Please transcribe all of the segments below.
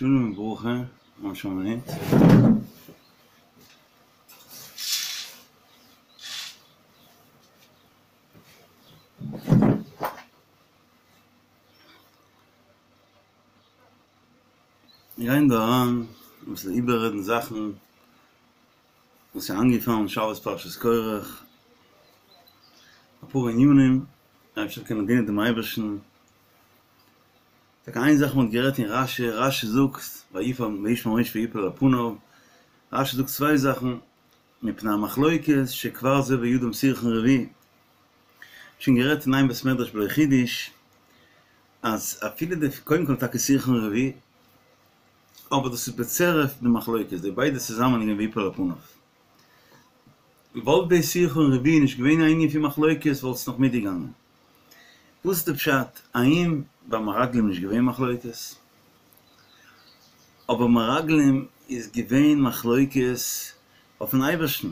שלום וברכה, ממש א מינוט. מיר גייען דא אריין אביסל איבעררעדן זאכן וואס איז איינגעפאלן שבת פרשת קרח, אפאר ענינים, אפשר קען מען דינען דעם אייבערשטן. טאקע איין זאך מען האט גערעדט אין רשי, רשי זאגט וישמע משה ויפל על פניו, רשי זאגט צוויי זאכן, מפני המחלוקת שכבר זה בידם סירחון רביעי, שוין גערעדט אין איין בית מדרש בלא חידוש, אז אפילו די קודם כל טאקע סירחון רביעי, אבער דאס איז בצירוף די מחלוקת, די ביידע צוזאמען איז געווען ויפל על פניו. וואלט די סירחון רביעי נישט געווען א ענין פון מחלוקת וואלט עס נאך מיטגעגאנגען. וואס איז די פשט? האם ביי מרגלים נישט געווען מחלוקת? אבער מרגלים איז געווען מחלוקת אויפן אייבערשטן.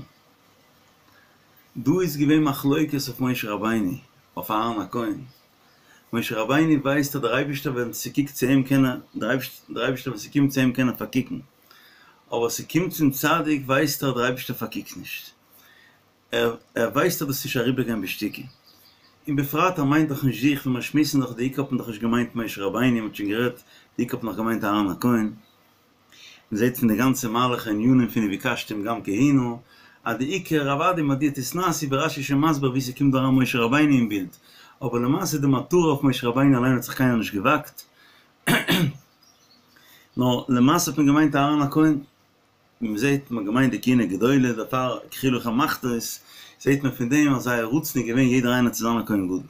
דא איז געווען מחלוקת אויף משה רבינו, אויף אהרן הכהן. משה רבינו ווייסט אז דער אייבערשטער ווען ס'קוקט צו אים קען ער, דער אייבערשטער ווען ס'קומט צו אים קען ער פארקוקן. אבער ס'קומט צום צדיק ווייסט ער אז דער אייבערשטער פארקוקט נישט. ער ער ווייסט אז דאס איז נישט אריבערגיין בשתיקה. און בפרט ער מיינט דאך נישט זיך, ווען מיר שמועסן דאך די עיקר האט מען דאך נישט געמיינט משה רבינו, מ'האט שוין גערעדט, די עיקר האט מען דאך געמיינט אהרן הכהן. מ'זעט פון די גאנצע מהלך הענינים פון וביקשתם גם כהונה, אז די עיקר אוודאי מדוע תתנשאו ווי רש"י איז שוין מסביר ווי ס'קומט דא אריין משה רבינו אין בילד, אבער למעשה די מטרה אויף משה רבינו אליין האט זיך קיינער נישט געוואגט, נאר למעשה האט מען געמיינט אהרן הכהן. ווי מען זעט מען האט געמיינט די כהונה גדולה דערפאר קחו לכם מחתות, זעט מען פון דעם אז זייער רצון איז געווען יעדער איינער צו זיין א כהן גדול. זיי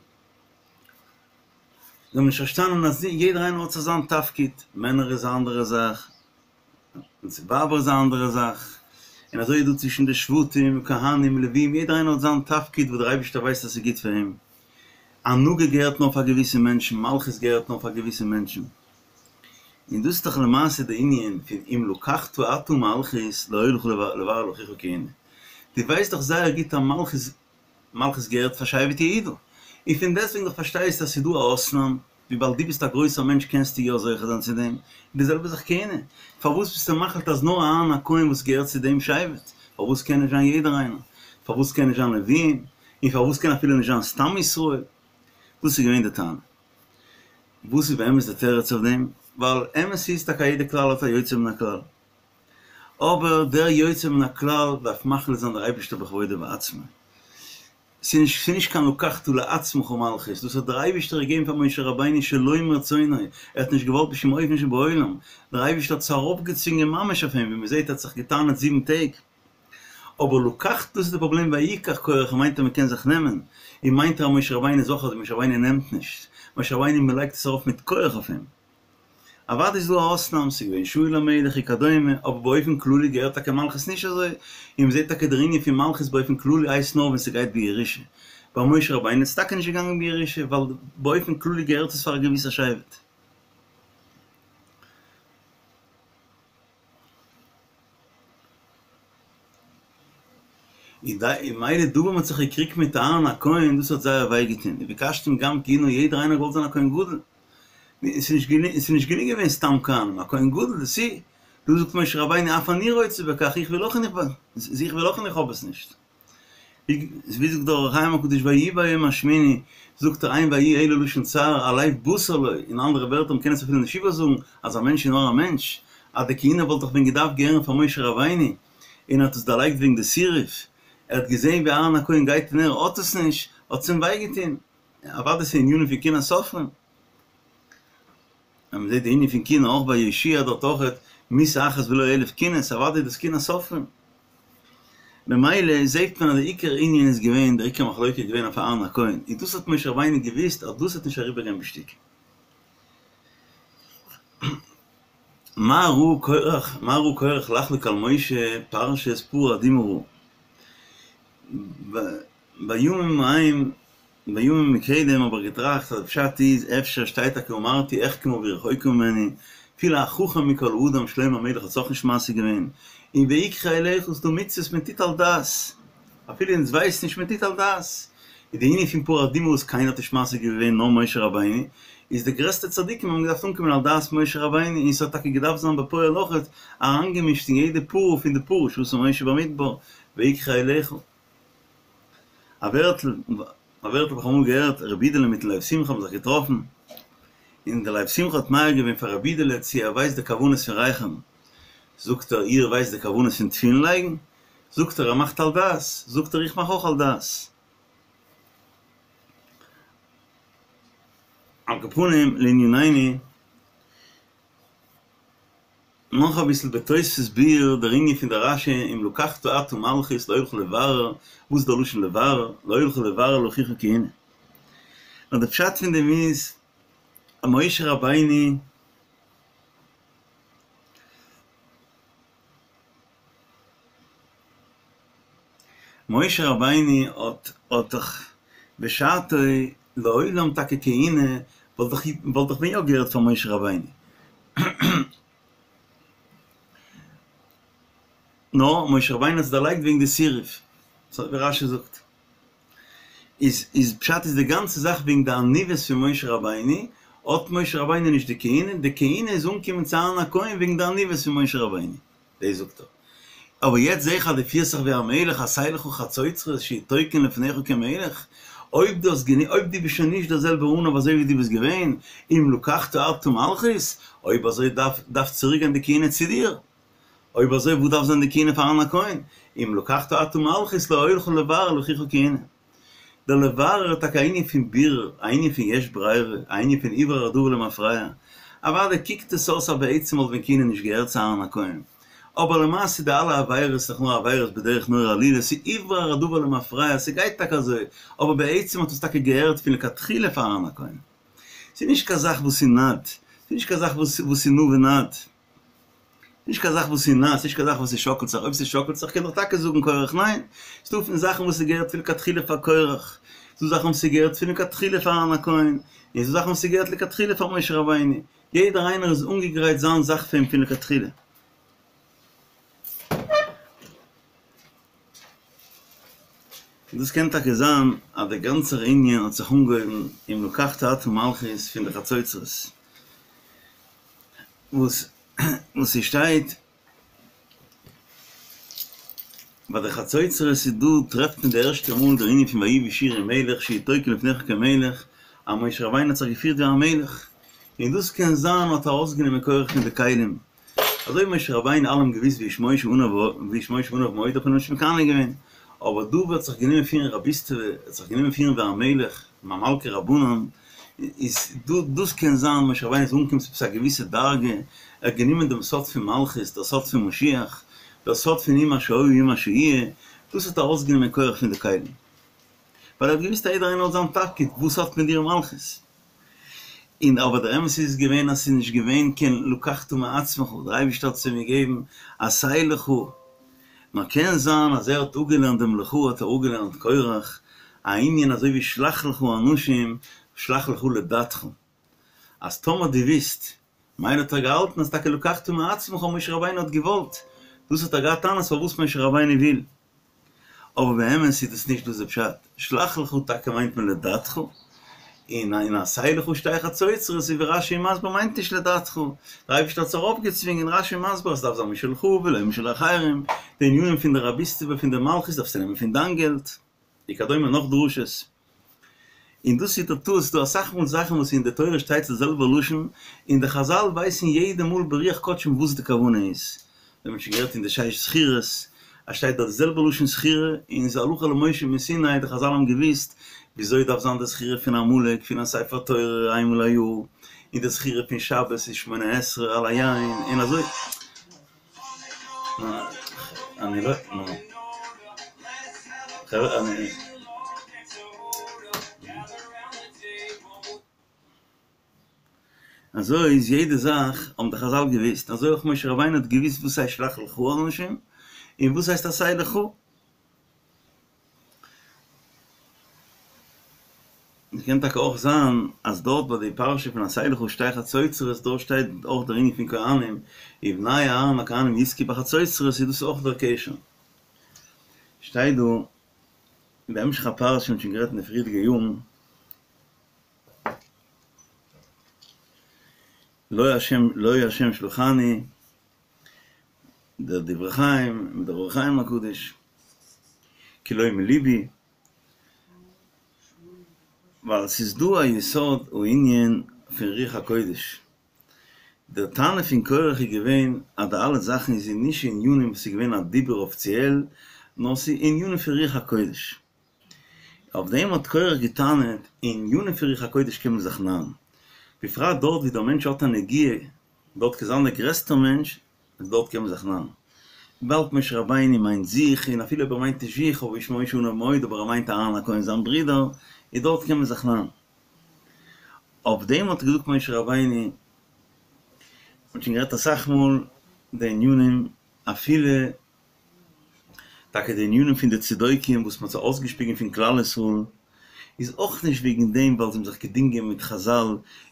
האבן נישט פארשטאנען אז יעדער איינער האט זיך זיין תפקיד, מענער איז א אנדערע זאך, און ווייבער איז א אנדערע זאך, און אזוי איז דא צווישן די שבטים, כהנים, לווים, יעדער איינער האט זיין תפקיד וואס דער אייבערשטער ווייסט אז ס'איז גוט פאר אים. הנהגה געהערט נאר פאר געוויסע מענטשן, מלכות געהערט נאר פאר געוויסע מענטשן. און דאס איז דאך למעשה די ענין פון אם לקחת אתה מלכות לא היה לך לברר לאחיך כהונה. דו ווייסט דאך זייער גוט אז מלכות מלכות געהערט פאר שבט יהודה. און פון דעסטוועגן דאך פארשטייסטו אז ס'איז דא א אויסנאם, וויבאלד דו ביסט א גרויסער מענטש קענסטו יא זוכה זיין צו דעם. און די זעלבע זאך כהונה. פארוואס ביסטו מחליט אז נאר אהרן הכהן וואס געהערט צו דעם שבט? פארוואס קען נישט זיין יעדער איינער? פארוואס קען נישט זיין לווים? און פארוואס קען אפילו נישט זיין סתם ישראל? דאס איז געווען די טענה. וואס איז באמת די תירוץ אויף דעם? ווייל אמת איז טאקע א יעדע כלל האט א יוצא מן הכלל. אבער דער יוצא מן הכלל דארף מחליט זיין דער אייבערשטער בכבודו ובעצמו. ס'איז נישט קיין לקחת לעצמך מלכות, דאס האט דער אייבערשטער געגעבן פאר משה רבינו שלא מרצונו, ער האט נישט געוואלט בשום אופן שבעולם, דער אייבערשטער האט עס ארויפגעצווינגען ממש אויף אים, ווי מ'זעט ער האט זיך געטענה'ט זיבן טעג. אבער לקחת דאס איז די פראבלעם ויקח קרח מיינט אז מ'קען זיך נעמען, און מיינט ער אז משה רבינו איז אויך אזוי, משה רבינו נעמט נישט, משה רבינו מ'לייגט עס ארויף מיט כח אויף אים. אוודאי איז דא א אויסנאם, ס'איז געווען שאול המלך וכדומה, אבער באופן כללי געהערט טאקע מלכות נישט אזוי, און מ'זעט טאקע דער ענין פון מלכות באופן כללי הייסט נאר ווען ס'גייט בירושה, ביי משה רבינו איז עס טאקע נישט געגאנגען בירושה, ווייל באופן כללי געהערט עס פאר א געוויסע שבט. און מילא דא ווען מ'האט זיך געקריגט מיט אהרן הכהן, דאס האט זייער וויי געטון, וביקשתם גם כהונה, יעדער איינער האט געוואלט זיין א כהן גדול, עס איז נישט גענוג געווען סתם כהנים, א כהן גדול, דאס איז, דא זאגט משה רבינו אף אני רוצה בכך, איך וויל אויך און איך וויל אויך און איך האב עס נישט. ווי זאגט דער אור החיים הקדוש ויהי ביום השמיני, זאגט ער אין ויהי אלא לשון צער, הלב בשר לו, אין אנדערע ווערטער מ'קען עס אפילו נישט איבערזאגן, אז א מענטש איז נאר א מענטש, אז די כהונה וואלט דאך ווען געדארפט געהערן פאר משה רבינו, און ער האט עס דערלייגט וועגן די סירוף, ער האט געזען ווי אהרן הכהן גייט און ער האט עס נישט, האט עס אים וויי געטון, אוודאי ס'איז ענינים פון קנאת סופרים. אז מ'זעט די ענין פון קנאה אויך ביי יהושע דארט אויכעט, מיתה אחת ולא אלף קינות, אוודאי איז דאס קנאת סופרים. ממילא זעט מען אז די עיקר ענין איז געווען, דער עיקר מחלוקה איז געווען אויף אהרן הכהן, און דאס האט משה רבינו געוואוסט אז דאס וועט נישט אריבערגיין בשתיקה. מה ראה קרח, מה ראה קרח לחלוק על משה פרשת פרה אדומה ראה. בימים ההם בימים מקדם האב איך געטראכט אז פשט איז אפשר שטייט טאקע אמרתי אחכמה והיא רחוקה ממני, אפילו החכם מכל אדם שלמה המלך האט עס אויך נישט משיג געווען, און ויקחו אליך ס'דא מצוות מען טוט על דעת, אפילו אונז ווייסן נישט מען טוט על דעת, איז די ענין פון פרה אדומה וואס קיינער האט נישט משיג געווען נאר משה רבינו, איז די גרעסטע צדיקים האבן געדארפט אנקומען על דעת משה רבינו, און ס'האט טאקע געדארפט זיין בפועל אויכעט אריינגעמישט אין יעדע פרה פון די פרה שעשה משה במדבר, ויקחו אליך. א ווערטל, א ווערטל האב איך אמאל געהערט, רבי אידעלע מיטן לב שמחה האבן זיך געטראפן, און דער לב שמחה האט מעיר געווען פאר רבי אידעלע צו ער ווייסט די כוונות פון רייכערן, זאגט ער, איר ווייסט די כוונות פון תפילין לייגן? זאגט ער, ער מאכט על דעת, זאגט ער, איך מאך אויך על דעת. על כל פנים לענינינו, נאך אביסל בתוספות ביאור דער ענין פון דער רש"י אם לקחת אתה מלכות לא הלכה לברר, וואס איז דער לשון לברר? לא הלכה לברר לאחיך כהונה. נאר די פשט פון דעם איז אז משה רבינו משה רבינו האט האט דאך בשעתו לעולם טאקע כהונה וואלט דאך וואלט דאך ווען יא געהערט פאר משה רבינו. נאר משה רבינו האט עס דערלייגט וועגן די סירוב, אזוי ווי רש"י זאגט. איז איז פשט איז די גאנצע זאך וועגן די עניוות פון משה רבינו, האט משה רבינו נישט די כהונה, די כהונה איז אנגעקומען צו אהרן הכהן וועגן די עניוות פון משה רבינו, דאס זאגט ער. אבער יעצט זעה איך אז דו פירסט זיך ווי א מלך, עשה לך חצוצרות שיהיו תוקעין לפניך כמלך, אויב דו האסט גענו אויב דו ביסט שוין נישט דער זעלבער עניו אזוי ווי דו ביסט געווען, אם לקחת אתה מלכות, אויב אזוי דארף דארף צוריק גיין די כהונה צו דיר. אויב אזוי וואס דארף זיין די כהונה פאר אהרן הכהן? אם לקחת אתה מלכות לא היה לך לברר לאחיך כהונה. דער לברר איז טאקע א ענין פון בירור, א ענין פון יש ברירה, א ענין פון הוברר הדבר למפרע. אוודאי קוקט עס אויס אז בעצם וואלט ווען כהונה נישט געהערט צו אהרן הכהן. אבער למעשה די אלע עבירות איז דאך נאר עבירות בדרך נורא עלילה, ס'איז הוברר הדבר למפרע, ס'גייט טאקע אזוי, אבער בעצם האט עס טאקע געהערט פון לכתחילה פאר אהרן הכהן. ס'איז נישט קיין זאך וואס איז נד, ס'איז נישט קיין זאך וואס איז נע ונד. נישט קיין זאך וואס איז נע, ס'נישט קיין זאך וואס ס'שאקלט זיך, אויב ס'שאקלט זיך קען איך טאקע זאגן קרח ניין, ס'דא פון זאכן וואס ס'געהערט פון לכתחילה פאר קרח, ס'דא זאכן וואס ס'געהערט פון לכתחילה פאר אהרן הכהן, און ס'דא זאכן וואס ס'געהערט לכתחילה פאר משה רבינו, יעדער איינער איז אנגעגרייט זיין זאך פון פון לכתחילה. און דאס קען טאקע זיין אז דער גאנצער ענין האט זיך אנגעהויבן אם לקחת אתה מלכות פון די חצוצרות, וואס וואס ס'שטייט ביי די חצוצרות איז דא טרעפט מען די ערשטע מאל דער ענין פון ויהי בישורון מלך שיהיו תוקעין לפניך כמלך אז משה רבינו האט זיך געפירט ווי א מלך און דאס קען זיין האט ארויסגענומען קרח פון די כלים אזוי ווי משה רבינו אלע האבן געוויסט והאיש משה עניו והאיש משה עניו מאוד האט מען אים נישט מקנא געווען אבער דא ווערט זיך גענומען פירן רביסטעווע ער האט זיך גענומען פירן ווי א מלך ממלכי רבנן איז דא דאס קען זיין משה רבינו איז אנגעקומען צו עפעס א געוויסע דרגה, ער האט גענומען דעם סוד פון מלכות, דער סוד פון משיח, דער סוד פון הוא מה שהיה הוא מה שיהיה, דאס האט ארויסגענומען קרח פון די כלים. ווייל ער האט געוויסט אז יעדער איינער האט זיין תפקיד, וואס האט מען דיר מלכות? און אבער דער אמת איז געווען אז ס'איז נישט געווען קיין לקחת מעצמך, דער אייבערשטער האט עס אים געגעבן עשה לך, נאר קען זיין אז ער האט אפגעלערנט דעם לך האט ער אפגעלערנט קרח, א ענין אזוי ווי שלח לך אנשים שלח לך לדעתך, אז טאמער דו ווילסט, מילא האט ער געהאלטן אז טאקע לקחת מעצמך משה רבינו האט געוואלט, דאס האט ער געהאט טענות פארוואס משה רבינו וויל. אבער באמת איז דאס נישט דאס די פשט, שלח לך טאקע מיינט מען לדעתך, און און עשה לך שתי חצוצרות ווי רש"י מסביר מיינט נישט לדעתך, דער אייבערשטער האט עס ארויפגעצווינגען, רש"י מסביר אז ס'דארף זיין משלך ולא משל אחרים, די ענינים פון די רביסטעווע פון די מלכות דארפסטו נעמען פון דיין געלט, וכדומה נאך דרשות. און דאס איז דער טעות, ס'דא אסאך מאל זאכן וואס אין די תורה שטייט די זעלבע לשון, און די חזל ווייסן יעדע מאל ברוח קדשם וואס די כוונה איז. מיר האבן שוין גערעדט אין די שש זכירות, אז שטייט דארט די זעלבע לשון זכירה, און ס'איז הלכה למשה מסיני, די חזל האבן געוואוסט וויאזוי דארף זיין די זכירה פון עמלק, פון א ספר תורה איינמאל א יאר, און די זכירה פון שבת איז שמונה עשרה על היין, און אזוי. אני לא, חברה, אני. אזוי איז יעדע זאך האבן די חזל געוויסט, אזוי אויך משה רבינו האט געוויסט וואס הייסט שלח לך אנשים, און וואס הייסט עשה לך. עס קען טאקע אויך זיין אז דארט ביי די פרשה פון עשה לך שתי חצוצרות דארט שטייט אויך דער ענין פון כהנים, ובני אהרן הכהנים יתקעו בחצוצרות איז דאס אויך דער קשר. שטייט דא בהמשך הפרשה, מ'האט שוין גערעדט אין די פריערדיגע יארן. לא השם לא השם שלחני, דער דברי חיים מיט דער אור החיים הקדוש, כי לא מלבי, ווייל ס'איז דא א יסוד הענין פון רוח הקודש, דער טענה פון קורח איז געווען אז די אלע זאכן איז נישט ענינים וואס איז געווען א דיבור אפיציעל, נאר ס'איז ענינים פון רוח הקודש. אויף דעם האט קורח געטענה'ט, אין ענינים פון רוח הקודש קען מען זיך נארן, בפרט דארט ווי דער מענטש האט א נגיעה, דארט קען זיין דער גרעסטער מענטש, איז דארט קען מען זיך נארן. וויבאלד משה רבינו מיינט זיך, און אפילו אויב ער מיינט נישט זיך, אבער איש משה עניו מאוד, אבער ער מיינט אהרן הכהן זיין ברודער, איז דארט קען מען זיך נארן. אויף דעם האט געזאגט משה רבינו, מ'האט שוין גערעדט אסאך מאל די ענינים, אפילו טאקע די ענינים פון די צדוקים וואס מ'האט זיי אויסגעשפיגן פון כלל ישראל, איז אויך נישט וועגן דעם ווייל זיי האבן זיך געדינגען מיט חזל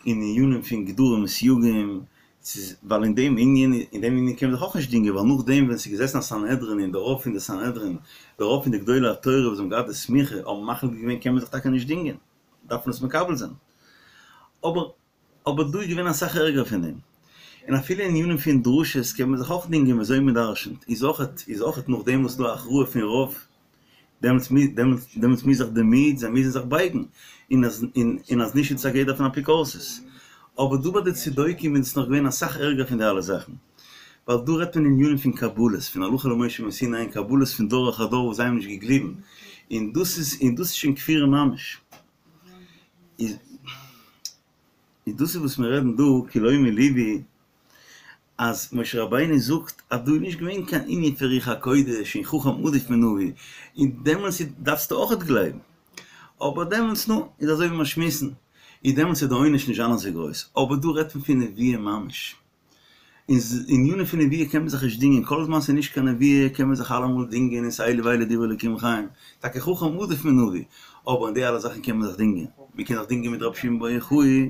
אין ענינים פון גדרים וסייגים, ס'איז ווייל אין דעם ענין, אין דעם ענין קען מען זיך אויך נישט דינגען, ווייל נאכדעם ווען ס'איז געזעסן א סנהדרין און די רוב פון די סנהדרין, די רוב פון די גדולי התורה וואס האבן געהאט די סמיכה האבן מחליט געווען קען מען זיך טאקע נישט דינגען, דארף מען עס מקבל זיין. אבער אבער דא איז געווען אסאך ערגער פון דעם. און אפילו אין ענינים פון דרשות קען מען זיך אויך דינגען וויאזוי מען דרשנ'ט, איז אויכעט איז אויכעט נאכדעם וואס ס'איז דא א הכרעה פון רוב, דעמאלטס מוז דעמאלטס דעמאלטס מוז זיך די מיעוט, זיי מוזן זיך בייגן, און אז און אז נישט איז עס א גדר פון אפיקורסות. אבער דא ביי די צדוקים איז עס נאך געווען אסאך ערגער פון די אלע זאכן. ווייל דא רעדט מען ענינים פון קבלות, פון הלכה למשה מסיני און קבלות פון דור אחר דור וואס זיי האבן נישט געגליבן, און דאס איז און דאס איז שוין כפירה ממש. איז איז דאס איז וואס מיר רעדן דא, כי לא מלבי, אז משה רבינו זאגט אז דא איז נישט געווען קיין ענין פון רוח הקודש און חכם עדיף מנביא, און דעמאלטס דארפסטו אויכעט גלייבן, אבער דעמאלטס נו, איז אזוי ווי מיר שמועסן, איז דעמאלטס איז די עונש נישט זיין אזוי גרויס, אבער דא רעדט מען פון נביאה ממש. אין ענינים פון נביאה קען מען זיך נישט דינגען, כל זמן ס'איז נישט קיין נביאה קען מען זיך אלעמאל דינגען און ס'איז אלו ואלו דברי אלוקים חיים, טאקע חכם עדיף מנביא, אבער אין די אלע זאכן קען מען זיך דינגען, מען קען זיך דינגען מיט רבי שמעון בר יוחאי,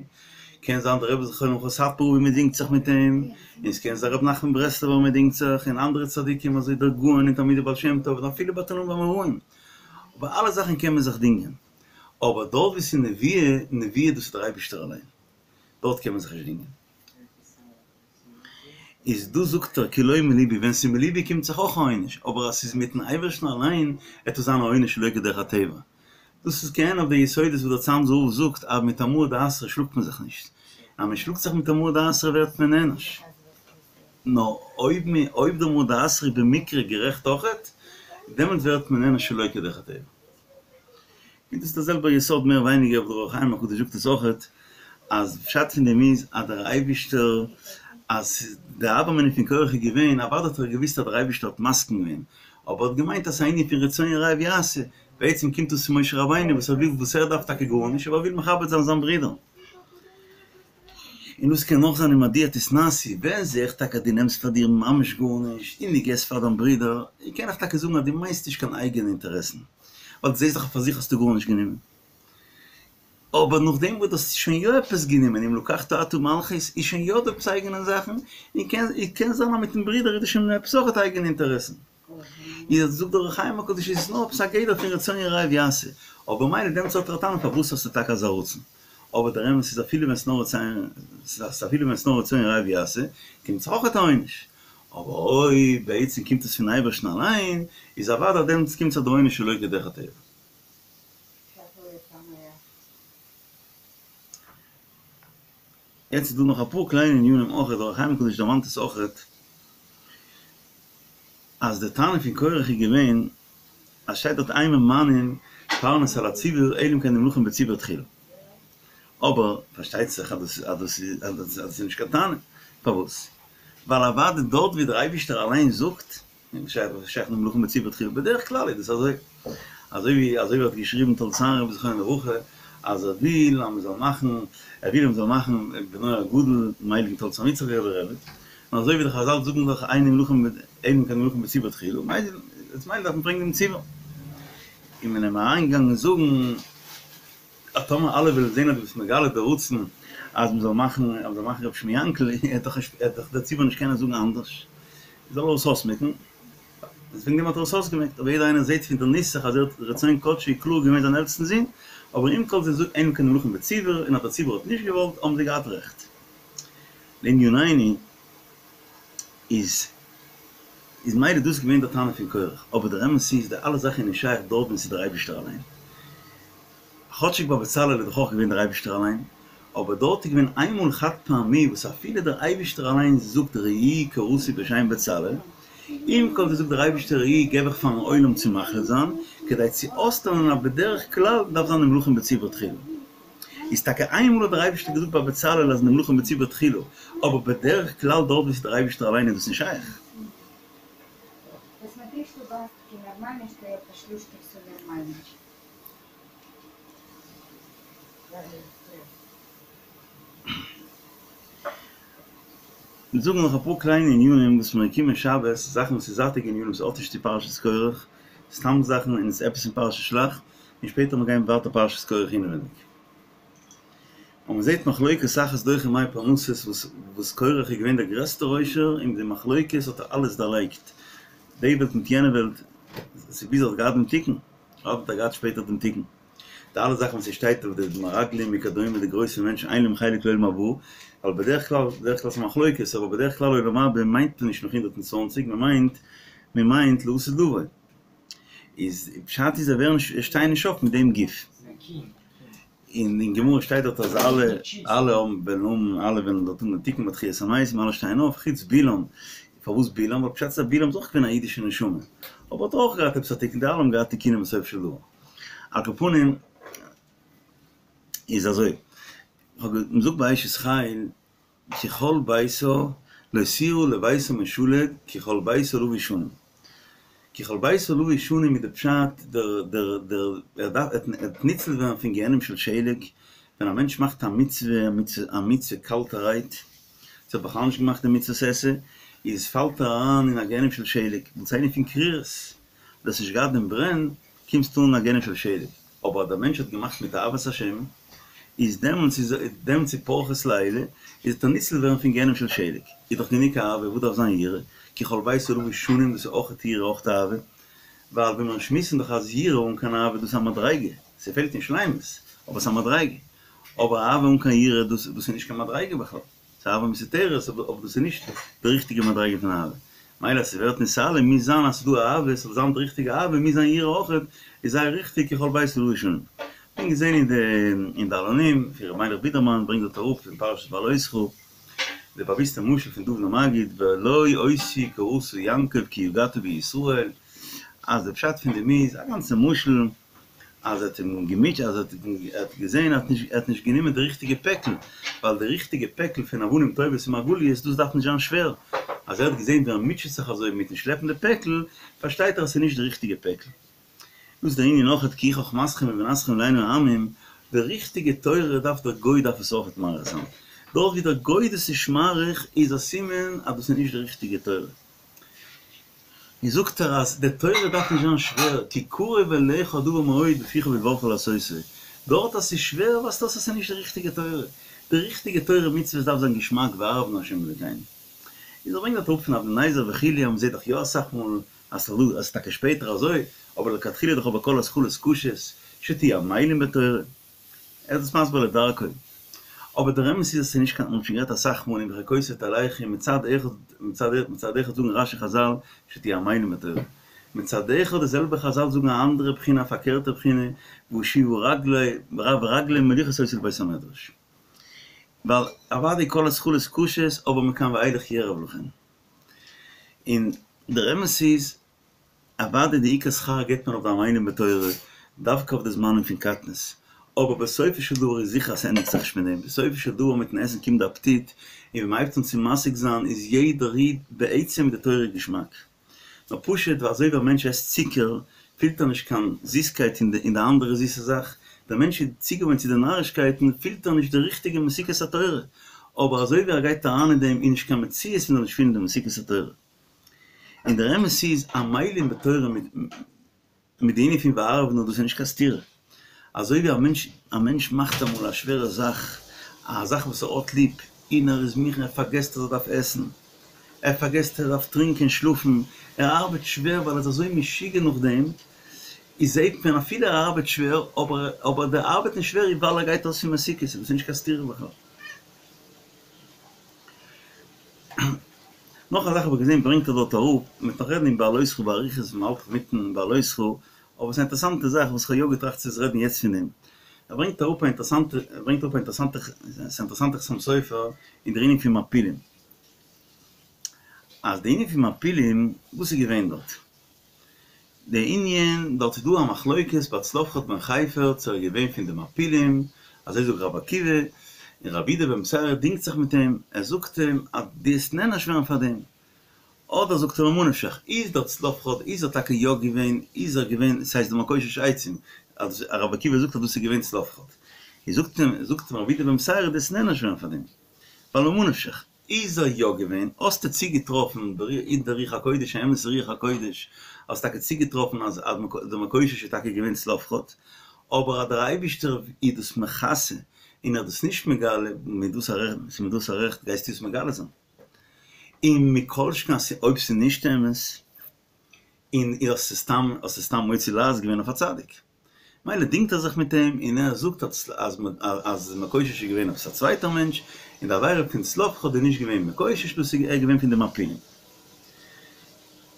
קען זיין דער רבי זכרונו לברכה סאטמאר רב מען דינגט זיך מיט אים, און ס'קען זיין רבי נחמן ברסלבער מען דינגט זיך, און אנדערע צדיקים אזוי דער גאון און תלמידי בעל שם טוב און אפילו ביי תנאים ואמוראים, אבער אלע זאכן קען מען זיך דינגען, אבער דארט וואו ס'איז נביאה, נביאה דאס איז דער אייבערשטער אליין, דארט קען מען זיך נישט דינגען. איז דא זאגט ער כי לא מלבי, ווען ס'איז מלבי קומט זיך אויך א עונש, אבער אז ס'איז מיטן אייבערשטן אליין עט עס זיין א עונש שלא כדרך הטבע. דאס איז כעין אויף די יסודות וואס דער צאנזער רב זאגט אז מיט א מרא דאתרא שלאגט מען זיך נישט, אז מען שלאגט זיך מיט א מרא דאתרא ווערט מען נענש. נאר אויב מען אויב דער מרא דאתרא איז במקרה גערעכט אויכעט, דעמאלט ווערט מען נענש שלא כדרך הטבע. און דאס איז דער זעלבער יסוד מער ווייניגער וואס דער אור החיים הקדוש זאגט עס אויכעט, אז פשט פון דעם איז אז דער אייבישטער אז די הוה אמינא פון קורח איז געווען, אוודאי האט ער געוואוסט אז דער אייבישטער האט מסכים געווען, אבער ער האט געמיינט אז ס'איז א ענין פון רצון יראיו יעשה, בעצם קומט דאס פון משה רבינו וואס ער וויל וואס ער דארף טאקע גארנישט אבער ער וויל מכבד זיין זיין ברודער. און דאס קען נאך זיין אין מדוע תתנשאו, ווען זעה איך טאקע אז דו נעמסט פאר דיר ממש גארנישט און דו געסט פאר דיין ברודער, קען איך טאקע זאגן אז דו מיינסט נישט קיין אייגענע אינטערעסן, ווייל דו זעסט דאך פאר זיך האסטו גארנישט גענומען. אבער נאכדעם וואס דו האסט שוין יא עפעס גענומען, אם לקחת אתה מלכות, איז שוין יא דא עפעס אייגענע זאכן, און קען קען זיין אז מיטן ברודער איז דא שוין עפעס אויכעט אייגענע אינטערעסן. איז זאגט דער אור החיים הקדוש איז עס נאר עפעס א גדר פון רצון יראיו יעשה, אבער מילא דעמאלטס האט ער א טענה פארוואס האסטו טאקע אזא רצון, אבער דער אמת איז אפילו ווען ס'נאר רצון אפילו ווען ס'נאר רצון יראיו יעשה, קומט זיך אויכעט א עונש, אבער אויב בעצם קומט עס פון אייבערשטן אליין, איז אוודאי דעמאלטס קומט זיך די עונש שלא כדרך הטבע. יעצט איז דא נאך אפאר קליינע ענינים אויכעט, דער אור החיים הקדוש דערמאנט עס אויכעט, אז די טענה פון קורח איז געווען אז שטייט דארט אין ממנין פרנס על הציבור אלא אם כן נמלכין בציבור תחילה, אבער פארשטייט זיך אז דאס איז נישט קיין טענה, פארוואס? ווייל אוודאי דארט ווי דער אייבישטער אליין זאגט שייך נמלכין בציבור תחילה, בדרך כלל איז דאס אזוי, אזוי ווי אזוי ווי האט געשריבן תולדות אהרן רבי זכרונו לברכה אז ער וויל אז מען זאל מאכן ער וויל אז מען זאל מאכן בנו הגדול דעם הייליגן תולדות אהרן יצחק רבי רבי, און אזוי ווי די חזל זאגן דאך אין נמלכין אלא אם כן נמלכין בציבור תחילה, מילא דארף מען ברענגען דעם ציבור. און מען איז אים אריינגעגאנגען זאגן אז טאמער אלע וועלן זען אז דו ביסט מגלה די רצון אז מען זאל מאכן אז מען זאל מאכן רבי שמעון יענקל, עט דאך עט דאך דער ציבור נישט קענען זאגן אנדערש, זאל ער עס אויסמעקן. איז וועגן דעם האט ער עס אויסגעמעקט, אבער יעדער איינער זעט פון דער נוסח אז ער האט רצון קדשו קלאר געווען זיין עלטסטן זון, אבער עם כל זה זאגט אלא אם כן נמלכין בציבור, און אז דער ציבור האט נישט געוואלט האבן זיי געהאט רעכט. לענינינו איז איז מילא דאס געווען דער טענה פון קורח, אבער דער אמת איז די אלע זאכן איז נישט שייך דארט ווען ס'איז דער אייבישטער אליין. כאטשיג ביי בצלאל איז דאך אויך געווען דער אייבישטער אליין, אבער דארט איז געווען איינמאל חד פעמי וואס אפילו דער אייבישטער אליין זאגט ראו קראתי בשם בצלאל, עם כל זה זאגט דער אייבישטער ראו געב איך פארן עולם צו מחליט זיין, כדי צו אויסטענה'ן אז בדרך כלל דארף זיין נמלכים בציבור תחילה. איז טאקע איינמאל האט דער אייבישטער געזאגט ביי בצלאל אז נמלכים בציבור תחילה, אבער בדרך כלל דארט וואו ס'איז דער אייבישטער אליין איז דאס נישט שייך. מיר זאגן נאך אפאר קליינע ענינים וואס מיר קומען שבת, זאכן וואס איז זייטיגע ענינים ס'האט נישט צו פרשת קרח, סתם זאכן און עס איז עפעס אין פרשת שלח, און שפעטער מיר גייען ווייטער פרשת קרח אינעווענדיג. און מען זעט מחלוקת אחת דוחה מאה פרנסות וואס וואס קרח איז געווען דער גרעסטער עושר און מיט די מחלוקת האט ער אלעס דערלייגט, די וועלט מיט יענע וועלט, ס'איז ביז ער האט געהאט דעם תיקון, האט ער געהאט שפעטער דעם תיקון. די אלע זאכן וואס ס'שטייט אויף די מרגלים וכדומה די גרויסע מענטשן אין להם חלק לעולם הבא, ווייל בדרך כלל, בדרך כלל ס'איז מחלוקת, אבער בדרך כלל עולם הבא מיינט מען נישט נאך 120, מ'מיינט, מ'מיינט לעתיד לבוא. איז פשט איז זיי ווערן נישט, שטייען נישט אויף מיט דעם גוף. און אין גמרא שטייט דארט אז אלע, אלע האבן וועלן האבן, אלע וועלן דארט האבן דעם תיקון ביי תחיית המתים, אלע שטייען אויף, חוץ בלעם. פארוואס בלעם? ווייל פשט איז אז בלעם איז אויך געווען א אידישע נשמה, אבער האט אויך געהאט עפעס א תיקון, די אלע האבן געהאט תיקונים בסופו של דבר. על כל פנים איז אזוי, כ'האב מ'זאגט ביי אשת חיל כי כל ביתה לא תירא לביתה משלג כי כל ביתה לבוש שנים. כי כל ביתה לבוש שנים איז די פשט דער דער דער ער דארף ער וועט ניצל ווערן פון גיהנום של שלג, ווען א מענטש מאכט א מצוה א מצוה קאלטערהייט, צו האט בכלל נישט געמאכט די מצוות עשה, איז פאלט ער אריין אין א גיהנום של שלג, ווייל ס'איז ענין פון קרירות, דו האסט נישט געהאט דעם ברען, קומסטו אן אין א גיהנום של שלג, אבער אז דער מענטש האט געמאכט מיט אהבת השם, איז דעמאלטס איז דעמאלטס איז פרכת לעילא, איז וועט ער ניצל ווערן פון גיהנום של שלג, איז דאך גענוג אהבה, וואס דארף זיין יראה, כי כל ביתה לבוש שנים דאס איז אויכעט יראה אויכעט אהבה, ווייל ווי מיר שמועסן דאך אז יראה אן קיין אהבה דאס איז א מדריגה, ס'פעלט אין שלימות, אבער ס'איז א מדריגה, אבער אהבה אן קיין יראה דאס דאס איז נישט קיין מדריגה בכלל. ס'איז אהבה מסותרת, אבער דאס איז נישט די ריכטיגע מדריגה פון אהבה. מילא אז ס'ווערט נתעלה מוז זיין אז ס'איז דא אהבה, ס'זאל זיין די ריכטיגע אהבה מוז זיין יראה אויכעט, איז זייער ריכטיג כי כל ביתה לבוש שנים. כ'בין געזען אין די אין די עלונים פון ר' מיילעך בידערמאן ברענגט דארט אראפ אין פרשת בהעלותך די באוויסטע משל פון דובנער מגיד ולא אותי קראת יעקב כי יגעת בישראל אז די פשט פון דעם איז א גאנצע משל אז ער האט אים געמוטשעט, אז ער האט געזען אז ער האט נישט גענומען די ריכטיגע פעקל, ווייל די ריכטיגע פעקל פון אבנים טובות און מרגליות דאס דארף נישט זיין שווער, אז ער האט געזען ווי ער מוטשעט זיך אזוי מיטן שלעפן די פעקל, פארשטייט ער אז ס'איז נישט די ריכטיגע פעקל. דאס איז דער ענין אויכעט כי היא חכמתכם ובינתכם לעיני העמים, די ריכטיגע תורה דארף דער גוי דארף עס אויכעט מעריך זיין, דארט ווי דער גוי דאס נישט מעריך איז א סימן אז דאס איז נישט די ריכטיגע תורה. און זאגט ער אז די תורה דארף נישט זיין שווער, כי קרוב אליך הדבר מאוד בפיך ובלבבך לעשותו, דארט אז ס'איז שווער ווייזט אויס אז ס'איז נישט די ריכטיגע תורה, די ריכטיגע תורה מצוות דארף זיין געשמאק ואהבנו ה' אלוקינו. איז ער ברענגט דארט אראפ פון אבני נזר וכו' אז מ'זעט דאך יא אסאך מאל אז ס'איז טאקע שפעטער אזוי, אבער לכתחילה דאך אבער כל התחלות קשות, שתהיו עמלים בתורה. ער איז דאס מסביר לדרכו. אבער דער אמת איז אז ס'איז נישט קיין, מ'האט שוין גערעדט אסאך מאל אם בחוקותי תלכו מצד אחד מצד אחד מצד אחד זאגן רש"י חז"ל שתהיו עמלים בתורה. מצד אחד די זעלבע חז"ל זאגן א אנדערע בחינה א פארקערטע בחינה ואשיבה רגלי ורגלי מוליכות אותי לבית המדרש. ווייל אוודאי כל התחלות קשות אבער מכאן ואילך יערב לכם. און דער אמת איז אוודאי די עיקר שכר געבט מען אויף די עמלים בתורה, דווקא אויף די זמנים פון קטנות, אבער בסופו של דבר איז זיכער אז ס'ענדיגט זיך נישט מיט דעם, בסופו של דבר מיטן עסן קומט די אפעטיט, און ווען מ'הייבט אן צו משיג זיין איז יעדער איד בעצם מיט די תורה געשמאק. נאר פשוט ווייל אזוי ווי א מענטש עסט צוקער פילט ער נישט קיין זיסקייט אין די אין די אנדערע זיסע זאך, דער מענטש איז צוגעוואוינט צו די נארישקייטן פילט ער נישט די ריכטיגע מתיקות התורה, אבער אזוי ווי ער גייט אריין אין דעם איז נישט קיין מציאות מ'זאל נישט פילן די מתיקות התורה. און דער אמת איז עמלים בתורה מיט מיט די ענין פון ואהבנו דאס איז נישט קיין סתירה. אזוי ווי א מענטש א מענטש מאכט אמאל א שווערע זאך, א זאך וואס ער האט ליב, און ער איז מוכן ער פארגעסט אז ער דארף עסן, ער פארגעסט ער דארף טרינקען שלאפן, ער ארבעט שווער ווייל ער איז אזוי משוגע נאך דעם, איז זעהט מען אפילו ער ארבעט שווער אבער אבער די ארבעטן שווער איז ווייל ער גייט אויס פון מתיקות, דאס איז נישט קיין סתירה בכלל. נאך א זאך האב איך געזען ברענגט ער דארט אראפ, מ'וועט נאך רעדן אין בהעלותך באריכות ווען מ'האלט אינמיטן בהעלותך, אבער ס'איז א אינטערעסאנטע זאך וואס כ'האב יא געטראכט צו רעדן יעצט פון דעם. ער ברענגט אראפ א אינטערעסאנטע, ער ברענגט אראפ א אינטערעסאנטע, ס'איז א אינטערעסאנטע חתם סופר אין דער ענין פון מעפילים. אז די ענין פון מעפילים, וואס איז געווען דארט? די ענין, דארט איז דא א מחלוקת ביי צלפחד בן חפר צו ער איז געווען פון די מעפילים, אזוי זאגט רבי עקיבא, און רבי יהודה בן בתירא דינגט זיך מיט אים, ער זאגט אים אז דו וועסט נענש ווערן פאר דעם, אדער זאגט ער ממה נפשך, איז דער צלפחד איז ער טאקע יא געווען, איז ער געווען, ס'הייסט די מקושש עצים, אז רבי עקיבא זאגט אז דאס איז געווען צלפחד, איז זאגט אים, זאגט אים רבי יהודה בן בתירא דו וועסט נענש ווערן פאר דעם, ווייל ממה נפשך. איז ער יא געווען? האסטו צוגעטראפן אין די רוח הקודש, א אמת'ע רוח הקודש, האסט טאקע צוגעטראפן אז דער מקושש איז טאקע געווען צלפחד, אבער אז דער אייבישטער איז דאס מכסה און ער איז דאס נישט מגלה, מיט וואס א רעכט גייסטו עס מגלה זיין? און מכל שכן אז אויב ס'איז נישט אמת, און האסט סתם האסט סתם מוציא לעז געווען אויף א צדיק. מילא דינגט ער זיך מיט אים און ער זאגט אז אז מקושש איז געווען עפעס א צווייטער מענטש און די עבירה פון צלפחד איז נישט געווען מקושש דאס איז ער געווען פון די מעפילים.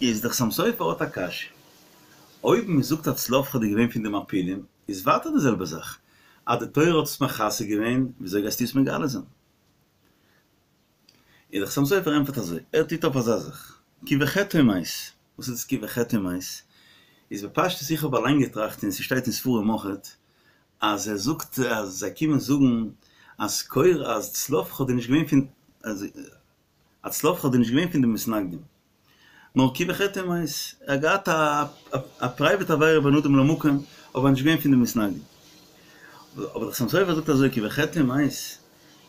איז דער חתם סופר האט א קשיא, אויב מען זאגט אז צלפחד איז געווען פון די מעפילים איז ווייטער די זעלבע זאך, אז די תורה האט עס מכסה געווען וויאזוי גייסטו עס מגלה זיין? איז דער חתם סופר ענטפערט אזוי, ער טוט אויף אזא זאך, כי בחטאו מת, וואס איז דאס כי בחטאו מת? איז בפשטות איך האב אליין געטראכט און ס'שטייט אין ספרים אויכעט, אז ער זאגט אז זיי קומען זאגן אז קורח אז צלפחד איז נישט געווען פון אז צלפחד איז נישט געווען פון די מתנגדים, נאר כי בחטאו מת, ער האט געהאט א פרייוועט עבירה בין אדם למקום, אבער נישט געווען פון די מתנגדים. אבער דער חתם סופר זאגט אזוי כי בחטאו מת,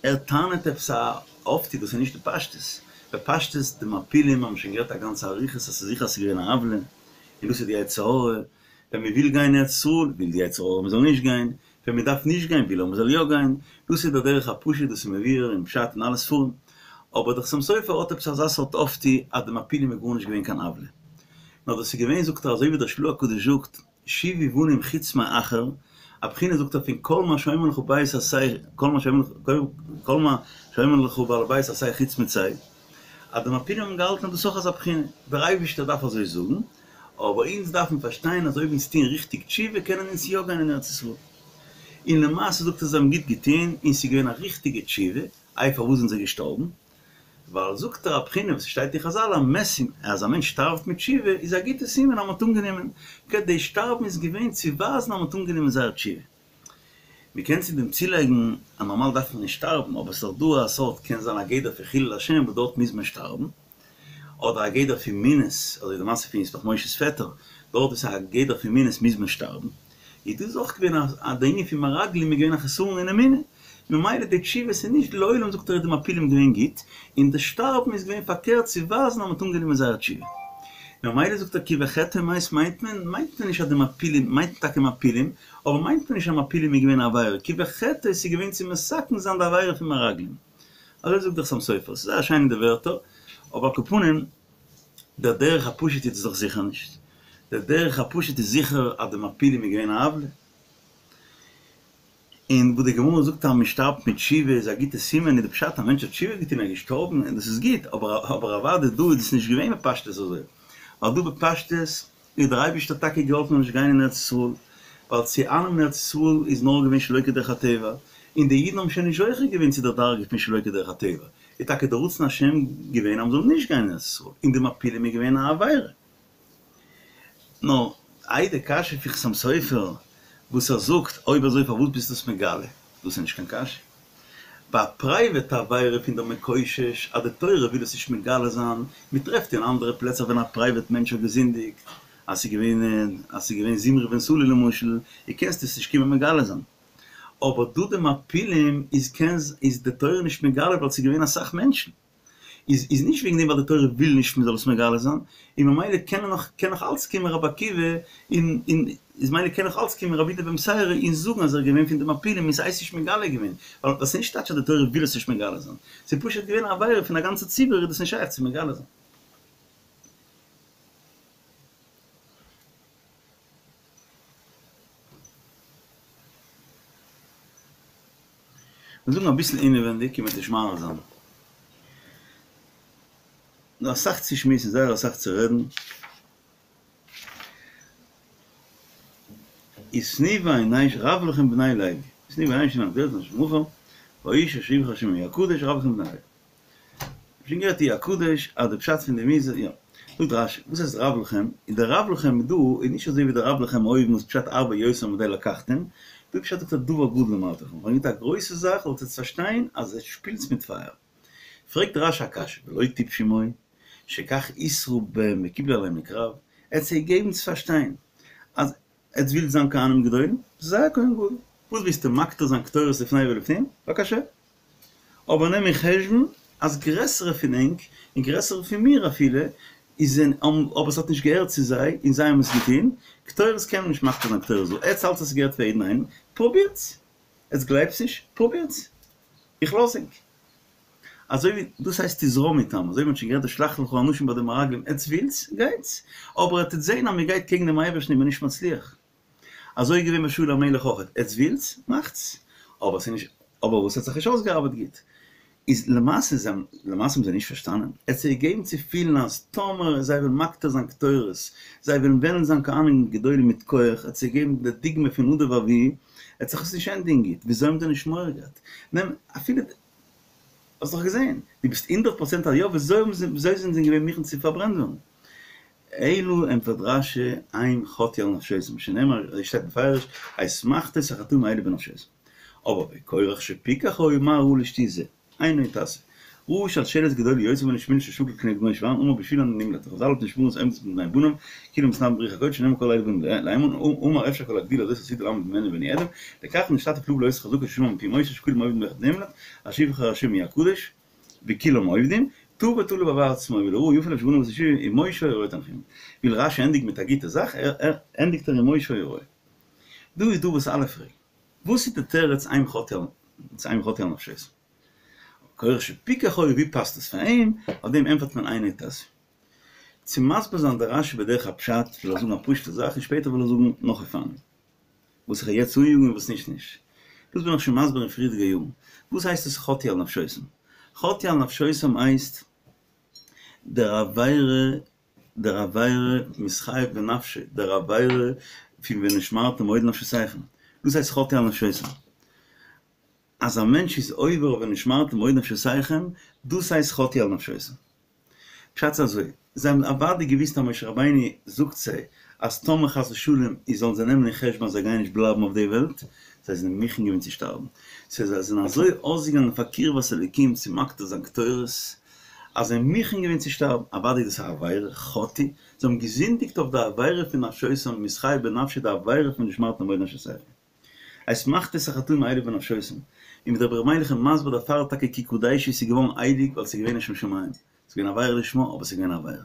ער טענה'ט עפעס א אויפטו דאס איז נישט די פשטות, בפשטות די מעפילים האבן שוין גערעדט א גאנצע אריכות אז ס'איז זיכער אז ס'איז געווען א עוולה, און דאס איז די יצר הרע, ווען מ'וויל גיין ארץ ישראל וויל די יצר הרע מ'זאל נישט גיין, ווען מען דארף נישט גיין וויל ער מען זאל יא גיין, דאס איז דער דרך הפשוט דאס איז מבואר אין פשט אין אלע ספרים, אבער דער חתם סופר האט עפעס אזא סארט אויפטו אז די מעפילים איז גארנישט געווען קיין עוולה, נאר דאס איז געווען זאגט ער אזוי ווי דער של"ה הקדוש זאגט שובו בנים חוץ מאחר, א בחינה זאגט ער פון כל מה שאומר לך בית עשה כל מה שאומר לך כל מה שאומר לך בעל הבית עשה חוץ מצא, אז די מעפילים האבן געהאלטן אז דאס איז אויך אזא בחינה, דער אייבערשטער דארף אזוי זאגן, אבער אונז דארפן פארשטיין אז אויב אונז טוען ריכטיג תשובה קענען אונז יא גיין אין ארץ ישראל. און למעשה זאגט ער זיי האבן גוט געטון און ס'איז געווען א ריכטיגע תשובה, איי פארוואס זענען זיי געשטארבן? ווייל זאגט ער א בחינה וואס שטייט אין חזל א סימן אז א מענטש שטארבט מיט תשובה איז א גוטע סימן אז מ'האט אנגענומען, כדי שטארבן איז געווען צו ווייזן אז מ'האט אנגענומען זייער תשובה. מ'קען צו דעם צולייגן אז נארמאל דארף מען נישט שטארבן, אבער ס'איז דאך דא א סארט קען זיין א גדר פון חילול השם וואס דארט מוז מען שטארבן, אדער א גדר פון מינות, אזוי די מעשה פון ישמח משה'ס פעטער, דארט וואו ס'איז א גדר פון מינות מוז מען שטארבן, איז דאס אויך געווען א די ענין פון מרגלים איז געווען א חסרון אין אמונה, ממילא די תשובה איז נישט לעולם זאגט ער איז די מעפילים געווען גוט, און די שטארבן איז געווען פארקערט צו ווייזן אז מ'האט אנגענומען זייער תשובה. ממילא זאגט ער כי בחטאו מת מיינט מען, מיינט מען נישט אז די מעפילים, מיינט מען טאקע מעפילים, אבער מיינט מען נישט אז מעפילים איז געווען א עבירה, כי בחטאו איז געווען צו מתקן זיין די עבירה פון מרגלים. אזוי זאגט דער חתם סופר, ס'איז זייער שיין אין די ווערטער, אבער על כל פנים, דער דרך הפשוט איז עס דאך זיכער נישט. דער דרך הפשוט איז זיכער אז די מעפילים איז געווען א עוולה. און וואס די גמרא זאגט אז מען שטארבט מיט תשובה איז א גוטע סימן, איז די פשט א מענטש האט תשובה געטון ער איז געשטארבן און דאס איז גוט, אבער אבער אוודאי דא איז דאס נישט געווען בפשטות אזוי, ווייל דא בפשטות איז דער אייבערשטער טאקע געהאלפן נישט גיין אין ארץ ישראל, ווייל צו אייננעמען ארץ ישראל איז נאר געווען שלא כדרך הטבע, און די אידן האבן שוין נישט זוכה געווען צו דער דרגה פון שלא כדרך הטבע, איז טאקע דער רצון השם געווען אז מען זאל נישט גיין אין ארץ ישראל, און די מעפילים איז געווען א עבירה. נאר איי די קשיא פון חתם סופר וואס ער זאגט אויב אזוי פארוואס ביסטו עס מגלה? דאס איז נישט קיין קשיא. ביי א פרייוועט עבירה פון דער מקושש אז די תורה וויל עס נישט מגלה זיין, מען טרעפט אין אנדערע פלעצער ווען א פרייוועט מענטש האט געזינדיגט אז ס'איז געווען אז ס'איז געווען זמרי בן סלוא למשל, איז קענסטו עס נישט קומען מגלה זיין. אבער דא די מעפילים איז קען איז די תורה נישט מגלה ווייל ס'איז געווען אסאך מענטשן. איז איז נישט וועגן דעם ווייל די תורה וויל נישט מען זאל עס מגלה זיין, און ממילא קען נאך קען נאך אלץ קומען רבי עקיבא און און איז ממילא קען נאך אלץ קומען רבי יהודה בן בתירא און זאגן אז ער איז געווען פון די מעפילים און ס'הייסט נישט מגלה געווען, ווייל דאס איז נישט טייטש אז די תורה וויל עס נישט מגלה זיין, ס'איז פשוט געווען א עבירה פון א גאנצע ציבור איז דאס נישט שייך צו מגלה זיין. מיר זאגן אביסל אינעווענדיג און מ'וועט נישט מאריך זיין. דא אסאך צו שמועסן, זייער אסאך צו רעדן. ותנו בעיני רב לכם בני לוי, ותנו בעיני שני המקדש אשר מחר, והאיש אשר יבחר השם יהיה הקדוש רב לכם בני לוי. שוין געהערט יהיה הקדוש אז די פשט פון דעם איז יא. זאגט רש"י, וואס הייסט רב לכם? איז דער רב לכם דא איז נישט אזוי ווי דער רב לכם אויבן וואס פשט הרבה יותר מדאי לקחתם, דא פשט זאגט ער דבר גדול אמרתי לכם, כ'האב געזאגט א גרויסע זאך זאלט עטס פארשטיין אז עטס שפילטס מיט פייער. פרעגט רש"י א קשיא, ולא טיפשים היו, שכך התרו בהם וקיבלו עליהם לקרב, ער האט זיי געגעבן צו פארשטיין אז עטס ווילט זיין כהנים גדולים? זיי א כהן גדול. וואס ווילסטו מקטיר זיין קטורת לפני ולפנים? בבקשה. אבער נעם אין חשבון אז גרעסערע פון ענק, און גרעסערע פון מיר אפילו, איז זענען אבער עס האט נישט געהערט צו זיי און זיי האבן עס געטון, קטורת קען מען נישט מקטיר זיין קטורת דא, עטס האלטס אז עס געהערט פאר יעדן איינעם? פרובירטס! עטס גלייבטס נישט? פרובירטס! איך לאז ענק. אזוי ווי דאס הייסט תזרום איתם, אזוי ווי מ'האט שוין גערעדט די שלח לך אנשים ביי די מרגלים, עטס ווילטס? גייטס! אבער עטס וועט זעהן אז מ'גייט קעגן דעם אייבערשטן איז מען נישט מצליח. אזוי איז געווען ביי שאול המלך אויך, עטס ווילטס? מאכטס! אבער ס'איז נישט, אבער וואס האט זיך נישט אויסגעארבעט גוט, איז למעשה זיי האבן, למעשה האבן זיי נישט פארשטאנען, ער האט זיי געגעבן צו פילן אז טאמער זיי וועלן מקטיר זיין קטורת, זיי וועלן וועלן זיין כהנים גדולים מיט כח, ער האט זיי געגעבן די דוגמא פון נדב ואביהוא, עט זיך עס נישט ענדיגן גוט, וויאזוי האבן זיי נישט מורא געהאט? נעם אפילו, האסט דאך געזען, דו ביסט הונדערט פראצענט אז יא, וויאזוי האבן זיי, וויאזוי זענען זיי געווען מוכן צו פארברענט ווערן? אלא ענטפערט רש"י הם חטאו על נפשותם, שנאמר, אזוי שטייט מפורש, את מחתות החטאים האלה בנפשותם. אבער וקורח שפיקח היה מה ראה לשטות זה, עינו תעשה. ראה שלשלת גדולה יוצאה ממנו שביל ששקול כנגד משה ואהרן אמר בשבילם אני נמלט וחז"ל נשמרות עומדות מפני בניו כאילו מתנבאים ברוח הקודש שנאמר כל אלה באים לאמור אמר אפשר כל הגדולה הזאת עתידה לעמוד ממני ואני אעלם לכך נשתתף לבוא לאות חזקה ששמע מפי משה שכולם עובדים ואחד נמלט אשר יבחר השם יהיה הקדוש וכולם עובדים טעה ותלה בעבור עצמו ולרעה יפה לב שבנה בית יהושע ומשה היה רועה תנחומים וויל רש"י ענדיגן מיט א גוטע זאך ער ענדיגט ער ומשה היה רועה דא איז דא וואס אלע פרעגן וואס איז די תירוץ הם חטאו הם חטאו על נפשותם? קורח שפיקח היה ווי פאסט עס פאר אים? אויף דעם ענטפערט מען אינו תעשה. צו מסביר זיין די רש"י בדרך הפשט וויל איך זאגן א פשוטע זאך און שפעטער וויל איך זאגן נאך אופנים וואס איך וועל יעצט אניאגן און וואס נישט נישט. דאס בין איך שוין מסביר אין פריערדיגע יארן. וואס הייסט עס חטאו על נפשותם? חטאו על נפשותם הייסט דער עבירה דער עבירה מתחייב בנפשו, דער עבירה פון ונשמרתם מאוד לנפשותיכם, דאס הייסט חטאו על נפשותם. אז א מענטש איז עובר אויף ונשמרתם מאוד לנפשותיכם, דאס הייסט חטאו על נפשותם. פשט איז אזוי, זיי האבן אוודאי געוואוסט אז משה רבינו זאגט זיי אז טאמער חס ושלום איז זאלן זיי נעמען אין חשבון אז זיי גייען נישט בלייבן אויף די וועלט, זיי זענען מוכן געווען צו שטארבן. סאו זיי זענען אזוי אויסגעגאנגען פאר קרבת אלוקים צו מקטיר זיין קטורת, אז זיי זענען מוכן געווען צו שטארבן, אוודאי איז דאס א עבירה, חטאו, זיי האבן געזינדיגט אויף די עבירה פון נפשותם, מתחייב בנפשו די עבירה פון ונשמרתם מאוד לנפשותיכם. את מחתות החטאים האלה בנפשותם, און ווי דער רבי ר' מיילעך איז מסביר דערפאר טאקע כי קדשו איז געווארן הייליג ווייל ס'איז געווען לשם שמים, ס'איז געווען עבירה לשמה אבער ס'איז געווען עבירה.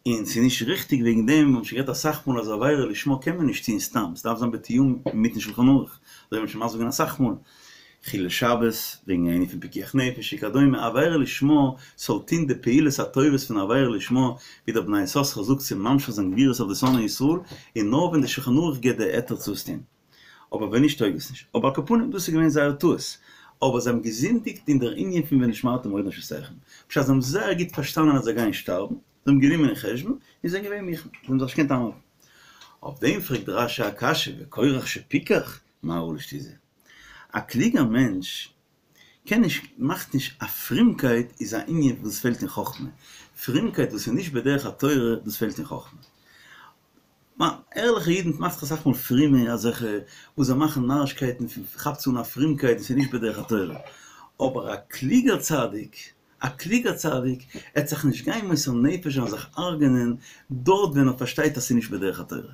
און ס'איז נישט ריכטיג וועגן דעם, מיר האבן שוין גערעדט אסאך מאל אז עבירה לשמה קען מען נישט טון סתם, ס'דארף זיין בתיאום מיטן שלחן ערוך, אזוי האט מען שוין מסביר געווען אסאך מאל, חילול שבת, וועגן ענין פון פיקוח נפש וכדומה, עבירה לשמה זאל טון די פעולות הטובות פון עבירה לשמה, ווי דער בני יששכר זאגט צו ממשיך זיין גבורות אויף די שונאי ישראל, און נאר ווען די שולחן ערוך גיבט די היתר צו עס טון. אבער ווען נישט טויג עס נישט. אבער על כל פנים דאס איז געווען זייער טעות. אבער זיי האבן געזינדיגט אין דער ענין פון ונשמרתם מאוד לנפשותיכם. פשט זיי האבן זייער גוט פארשטאנען אז זיי גייען שטארבן, זיי האבן גענומען אין חשבון, און זענען געווען מוכן. זיי האבן זיך נישט געקענט איינהאלטן. אויף דעם פרעגט רש"י א קשיא, וקורח שפיקח, מה ראה לשטות זה? א קלוגער מענטש קען נישט, מאכט נישט, א פרומקייט איז א ענין וואס פעלט אין חכמה, פרומקייט וואס איז נישט בדרך התורה דאס פעלט אין חכמה. ערליכע אידן מאכט זיך אסאך מאל פרומע אזעלכע וואס זיי מאכן נארישקייטן כאפט זיך אן א פרומקייט וואס איז נישט בדרך התורה, אבער א קלוגער צדיק א קלוגער צדיק עט זיך נישט גיין מוסר נפש זיין זיך הרג'נען דארט ווען ער פארשטייט אז ס'איז נישט בדרך התורה.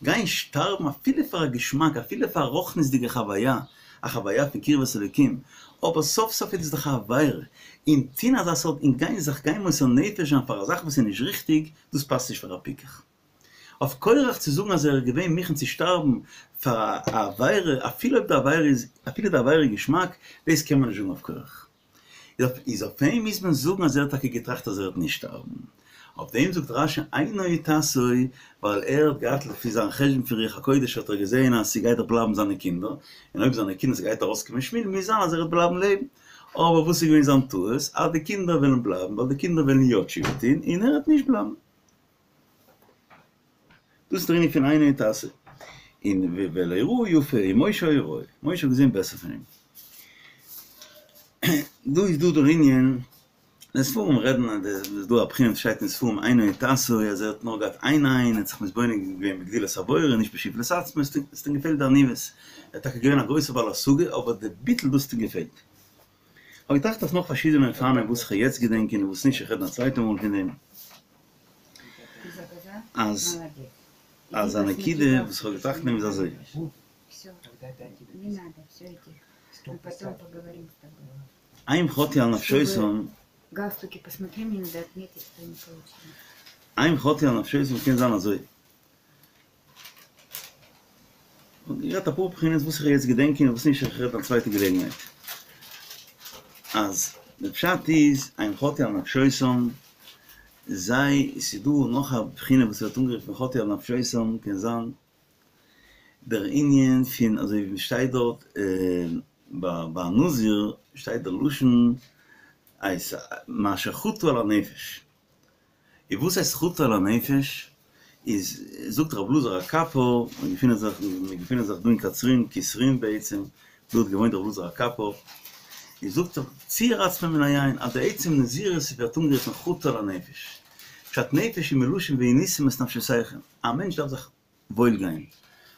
גיין שטארבן אפילו פאר א געשמאק אפילו פאר א רוחניות'דיגע חוויה, א חוויה פון קרבת אלוקים, אבער סוף סוף איז עס דאך א עבירה, און טוהן אזא סארט און גיין זיך גיין מוסר נפש זיין פאר א זאך וואס איז נישט ריכטיג, דאס פאסט נישט פאר א פיקח. אויף קורח צו זאגן אז ער איז געווען מוכן צו שטארבן פאר א עבירה אפילו אויב די עבירה איז אפילו די עבירה איז געשמאק, דאס קען מען נישט זאגן אויף קורח. איז אויף אים מוז מען זאגן אז ער האט טאקע געטראכט אז ער וועט נישט שטארבן. אויף דעם זאגט רש"י עינו תעשה, ווייל ער האט געהאט לפי זיין חשבון פון רוח הקודש האט ער געזען אז ס'גייט דאך בלייבן זיינע קינדער, און אויב זיינע קינדער ס'גייט ארויסקומען שמואל מוז זיין אז ער וועט בלייבן לעבן. אבער וואס איז געווען זיין טעות? אז די קינדער וועלן בלייבן, ווייל די קינדער וועלן יא תשובה טון, און ער וועט נישט בלייבן. דאס איז דער ענין פון עינו תעשה. און ולא ראה יפה, און משה היה רואה, משה האט געזען בעסער פון אים. דא איז דא דער ענין, די ספרים רעדן אז עס איז דא א בחינה וואס שטייט אין ספרים עינו תעשה אז ער האט נאר געהאט איין עין, ער האט זיך מתבונן געווען בגדולת הבורא און נישט בשפלות עצמו, עס האט אים געפעלט די עניוות, ער איז טאקע געווען א גרויסער בעל השגה אבער די ביטול דאס האט אים געפעלט. כ'האב געטראכט אויף נאך פארשידענע אופנים וואס כ'וועל יעצט געדענקען און וואס נישט, איך רעד א צווייטע מאל פון דעם. אז אז א נקודה וואס כ'האב געטראכט אין דעם איז אזוי. הם חטאו על נפשותם. הם חטאו על נפשותם קען זיין אזוי. כ'האב גערעדט אפאר בחינות וואס איך וועל יעצט געדענקען און וואס נישט איך רעד א צווייטע געלעגנהייט. אז די פשט איז הם חטאו על נפשותם זיי ס'איז דא נאך א בחינה וואס ווערט אנגערופן חטאו על נפשותם קען זיין דער ענין פון אזוי ווי שטייט דארט ביי א נזיר שטייט דער לשון מאשר חטא על הנפש. און וואס הייסט חטא על הנפש? איז זאגט רב אלעזר הקפר, מיר געפינען זיך מיר געפינען זיך דא אין קצרין, קיסרין בעצם, דא האט געוואוינט רב אלעזר הקפר, איז זאגט ער ציער עצמו מן היין, אז די עצם נזירות ווערט אנגערופן חטא על הנפש, פשט נפש איז מלשון ועניתם את נפשותיכם, א מענטש דארף זיך וואויל גיין.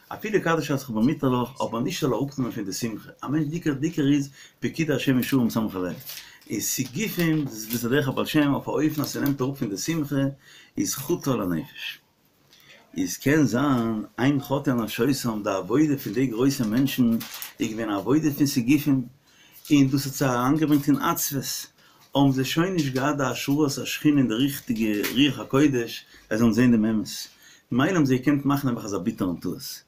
אפילו קדש עצמך במותר לך, אבער נישט זאל אראפנעמען פון די שמחה. א מענטש די עיקר די עיקר איז פקודי השם ישרים משמחי לב. איז סיגופים, דאס איז דרך הבעל שם אויף א אופן אז ס'נעמט אראפ פון די שמחה, איז חטא על הנפש. איז קען זיין הם חטאו על נפשותם, די עבודה פון די גרויסע מענטשן איז געווען א עבודה פון סיגופים, און דאס האט זיי אריינגעברענגט אין עצבות, האבן זיי שוין נישט געהאט די השראת השכינה און די ריכטיגע רוח הקודש זיי זאלן זען דעם אמת, ממילא האבן זיי געקענט מאכן נעבעך אזא ביטערן טעות.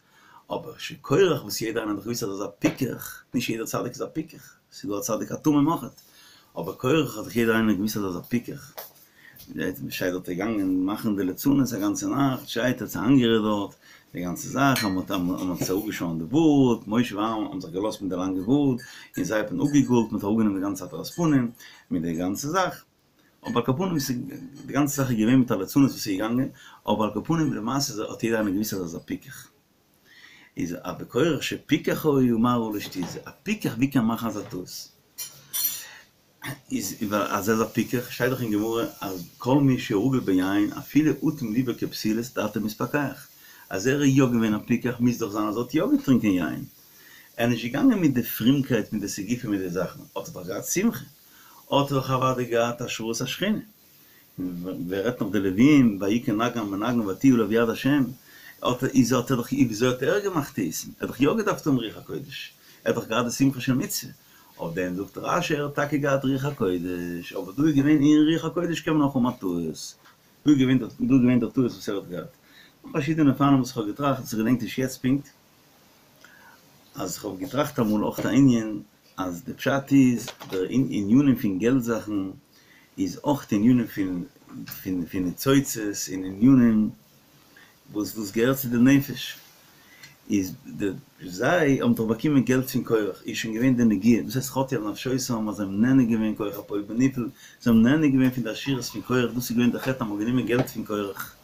אבער שקורח וואס יעדער איינער האט דאך געוואוסט אז ער איז א פיקח, נישט יעדער צדיק איז א פיקח, ס'איז דא א צדיק התמים אויכעט, אבער קורח האט דאך יעדער איינער געוואוסט אז ער איז א פיקח, שטייט דארט געגאנגען מאכן די לצנות א גאנצע נאכט, שטייט האט זיי איינגערעדט דארט די גאנצע זאך, אז מ'האט אז מ'האט זיי אפגעשוירן די בארד, משה ואהרן האבן זיך געלאזט מיט די לאנגע בארד, און זיי האט מען אפגעגאלט, מ'האט אראפגענומען די גאנצע הדרת פנים, מיט די גאנצע זאך, אבער על כל פנים ס'איז די גאנצע זאך איז געווען מיט א לצנות וואס איז געגאנגען, אבער על כל פנים למעשה האט יעדער איינער געוואוסט אז ער איז א פיקח. איז אבער קורח שפיקח היה מה ראה לו שטות זו, א פיקח ווי קען מאכן אזא טעות? איז ווייל אז ער איז א פיקח, שטייט דאך אין גמרא אז כל מי שרגיל ביין אפילו אטום ליבו כפתילות דעתו מתפקח, אז ער איז יא געווען א פיקח מוז דאך זיין אז ער האט יא געטרינקען יין, ער איז נישט געגאנגען מיט די פרומקייט מיט די סיגופים מיט די זאכן, האט ער דאך געהאט שמחה, האט ער דאך אוודאי געהאט השראת השכינה, ווער רעדט נאך די לווים, ויהי כנגן מנגן ותהי עליו יד השם, האט איז האט ער דאך וויאזוי האט ער געמאכט טעותים, ער האט דאך יא געדארפט האבן רוח הקודש, ער האט דאך געהאט די שמחה של מצוה, אויף דעם זאגט רש"י ער האט טאקע געהאט רוח הקודש, אבער דא איז געווען אין רוח הקודש קען מען אויך האבן א טעות, דא איז געווען דא איז געווען דער טעות וואס ער האט געהאט. נאך פארשידענע אופנים וואס איך האב געטראכט, וואס איך געדענק נישט יעצט פונקט, אז איך האב געטראכט אמאל אויך א ענין, אז די פשט איז, די ענינים פון געלט זאכן איז אויך ענינים פון פון פון ניצוצות און ענינים וואס דאס געהערט צו די נפש, איז די זיי האבן דאך באקומען געלט פון קורח, איז שוין געווען די נגיעה, דאס הייסט חטאו על נפשותם אז זיי האבן נהנה געווען כח הפועל בנפעל, זיי האבן נהנה געווען פון די עשירות פון קורח, דאס איז געווען די חטא אז מ'האט גענומען געלט פון קורח,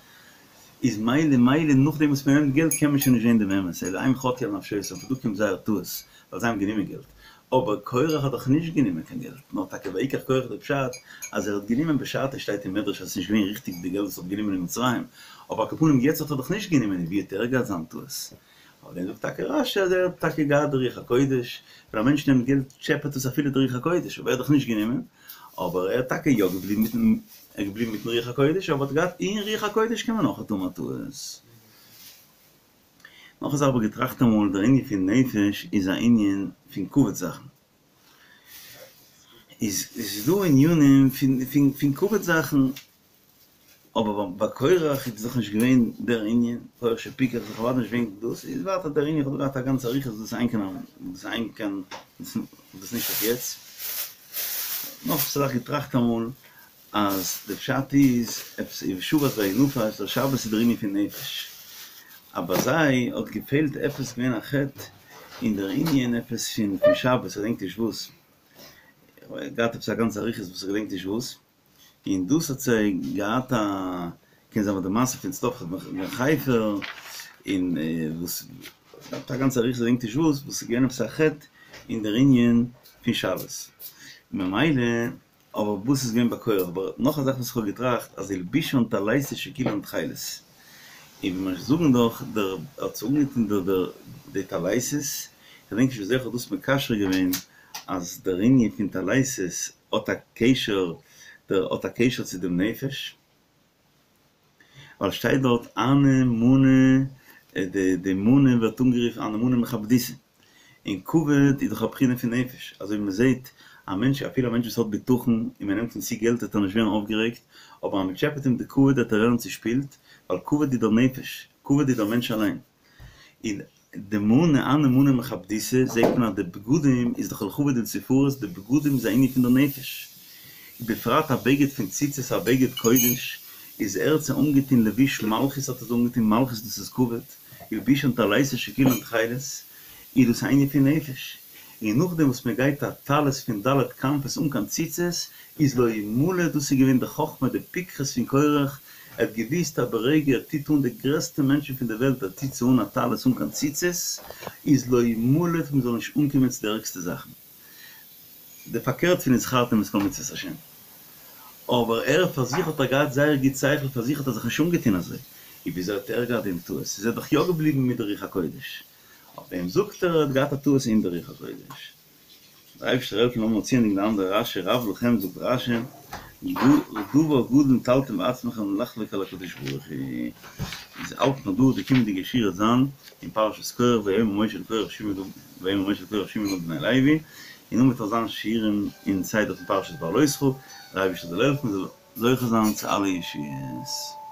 איז מילא מילא נאכדעם וואס מ'נעמט געלט קען מען שוין נישט זען דעם אמת, אלא הם חטאו על נפשותם, פון דא קומט זייער טעות, ווייל זיי האבן גענומען געלט, אבער קורח האט דאך נישט גענומען קיין געלט, נאר טאקע ויקח קורח די פשט אז ער האט גענומען בשעתו שטייט אין מדרש אז עס איז נישט געווען ריכטיג די געלט וואס ער האט גענומען אין מצרים, אבער על כל פנים יעצט האט ער דאך נישט גענומען און ווי האט ער געהאט זיין טעות? אויף דעם זאגט טאקע רש"י אז ער האט טאקע געהאט די רוח הקודש, ווען א מענטש נעמט געלט טשעפעט עס אפילו די רוח הקודש, אבער ער האט דאך נישט גענומען, אבער ער האט טאקע יא געבליבן מיטן ער איז געבליבן מיטן רוח הקודש, אבער האט געהאט אין רוח הקודש קען מען אויך האבן א טעות. נאך א זאך האב איך געטראכט אמאל, דער ענין פון נפש איז א ענין פון כבוד זאכן. איז איז דא ענינים פון פון פון כבוד זאכן, אבער ביי קורח איז דאך נישט געווען דער ענין, קורח שפיקח איז דאך אוודאי נישט געווען דאס, איז ווייטער דער ענין, איך האב דא געהאט א גאנצע אריכות דאס איז קיין דאס איז קיין דאס איז נישט אויף יעצט. נאך א זאך געטראכט אמאל, אז די פשט איז עפעס ובשבת וינפש, דער שבת איז דער ענין פון נפש, אבער זיי האט געפעלט עפעס געווען א חטא אין דער ענין עפעס פון פון שבת, כ'דענק נישט וואס. געהאט עפעס א גאנצע אריכות וואס איך געדענק נישט וואס, און דאס האט זיי געהאט א, קען זיין ביי די מעשה פון צלפחד בן חפר, און וואס געהאט א גאנצע אריכות געדענק נישט וואס, וואס איז געווען עפעס א חטא אין דער ענין פון שבת, ממילא אבער וואס איז געווען ביי קורח? אבער נאך א זאך וואס איך האב געטראכט אז הלבישן טליתות שכולן תכלת, און ווי מיר זאגן דאך דער האט זיך אנגעטון דער דער די טליתות, כ'דענק נישט וויאזוי איך האב דאס מקשר געווען אז דער ענין פון טליתות האט א קשר דער האט א קשר צו דעם נפש. ווייל שטייט דארט הני מאני, די די מנה ווערט אנגערופן הני מאני מכבדותא, און כבוד איז דאך א בחינה פון נפש, אזוי ווי מען זעט א מענטש אפילו א מענטש וואס האט בטחון און מען נעמט אים צו געלט וועט ער נישט ווערן אויפגערעגט, אבער אז מען טשעפעט אים די כבוד וועט ער ווערן צושפילט, ווייל כבוד איז דער נפש, כבוד איז דער מענטש אליין. און די מאני הני מאני מכבדותא זעט מען אז די בגדים איז דאך לכבוד ולתפארת, די בגדים איז א ענין פון די נפש, ובפרט א בגד פון ציצית א בגד קודש, איז ער האט זיי אנגעטון לבוש מלכות האט ער זיי אנגעטון מלכות דאס איז כבוד, הלבישן טליתות שכולן תכלת, איז דאס א ענין פון נפש, און נאכדעם וואס מען גייט א טלית פון ד' כנפות אן קיין ציצית, איז לא ימלט, דאס איז געווען די חכמה די פיקחות פון קורח, ער האט געוואוסט אז ברגע ער טוט אן די גרעסטע מענטשן פון די וועלט ער טוט זיי אן א טלית אן קיין ציצית, איז לא ימלט מען זאל נישט אנקומען צו די ערגסטע זאכן. די פארקערט פון וזכרתם את כל מצוות השם. אבער ער פאר זיך האט ער געהאט זייער גוט שכל, פאר זיך האט ער זיך נישט אנגעטון אזוי. און וויאזוי האט ער געהאט דעם טעות? איז ער דאך יא געבליבן מיט די רוח הקודש. אויף דעם זאגט ער ער האט געהאט א טעות אין די רוח הקודש. דער אייבערשטער העלפן לאמיר צוענדיגן די אנדערע רשי רב לכם זאגט רשי דבר גדול נטלתם בעצמכם לחלוק על הקדוש ברוך הוא איז האלט מען דא די קומענדיגע שיעור וועט זיין אין פרשת קרח ויאמר משה אל קרח שמעו נא ויאמר משה אל קרח שמעו נא בני לוי און נאכדעם וועט נאך זיין שיעורים אין סדר פון פרשת בהעלותך דער אייבערשטער זאל העלפן מ'זאל זוכה זיין צו אלע ישועות.